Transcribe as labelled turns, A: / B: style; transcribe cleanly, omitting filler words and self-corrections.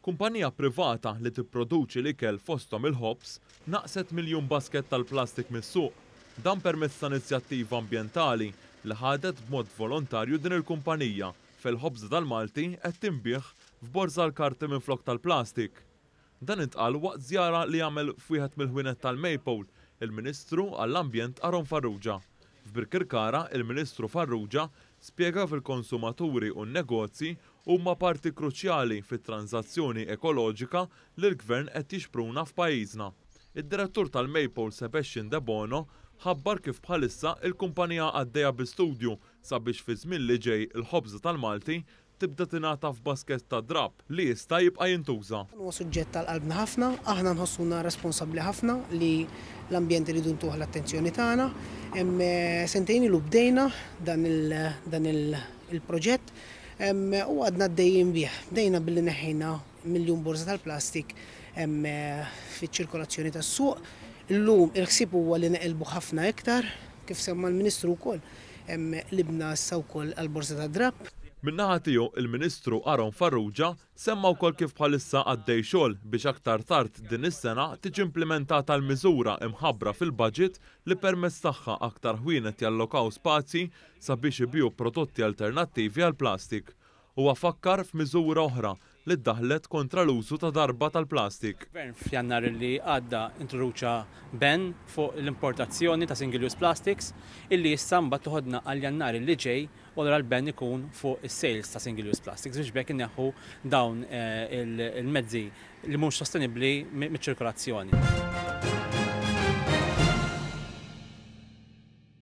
A: Kumpanija privata li tipproduċi l-ikel fosthom il-ħobż naqqset miljun basket tal-plastik mis-suq. Dan permezz ta' inizjattiva ambjentali li ħadet b'mod volontarju din il-kumpanija fejn il-ħobża tal-Malti qed tinbiegħ f'borża l-karti minflok tal-plastik. Dan intqal waqt żjara li għamel f'wieħed mill-ħwienet tal-Maypole il-Ministru għall-Ambjent Aaron Farrugia. F'Birkirkara, il-Ministru Farrugia spjega kif il-konsumaturi u n-negozji huma parti kruċjali fit-tranżazzjoni ekoloġika li l-Gvern qed jixpruna f'pajjiżna. Id-Direttur tal-Maypole Sebastian Debono ħabbar kif bħalissa il-kumpanija għaddejja bi studju sabiex fi żmien li ġej il-ħobża tal-Malti tibda tingħata f'basket ta' drapp li jista' jibqa' jintuża.
B: Dan huwa suġġett għal qalbna ħafna, aħna nħossuna responsabbli ħafna li l-ambjent irridu ntuh l-attenzjoni tagħna. Sentejn ilu bdejna dan il-proġett u għadna għaddejjin bih. Bdejna billi neħħejna miljun borża tal-plastik fiċ-ċirkolazzjoni tas-suq. Illum il-ħsieb huwa li neqilbu ħafna iktar, kif semma l-Ministru wkoll, qlibna issa wkoll għall-borża tad-drapp.
A: Min-naħa tiegħu, il-Ministru Aaron Farrugia semma wkoll kif bħalissa għaddej xogħol biex aktar tard din is-sena tiġi implimentata l-miżura imħabbra fil-budget li permezz tagħha aktar ħwienet jallokaw spazji sabiex ibigħu prodotti alternattivi għall-plastik. Huwa fakkar f'miżura oħra li ddaħħlet kontra l-użu ta' darba tal-plastik.
C: Il-Gvern f'Jannar li għadda introduċa ban fuq l-importazzjoni ta' single use plastics illi issa mbagħad toħodna għal Jannar li ġej u allura l-ban ikun fuq is-sales ta' single use plastics biex b'hekk inneħħu dawn il-mezzi li mhux sostenibbli miċ-ċirkolazzjoni.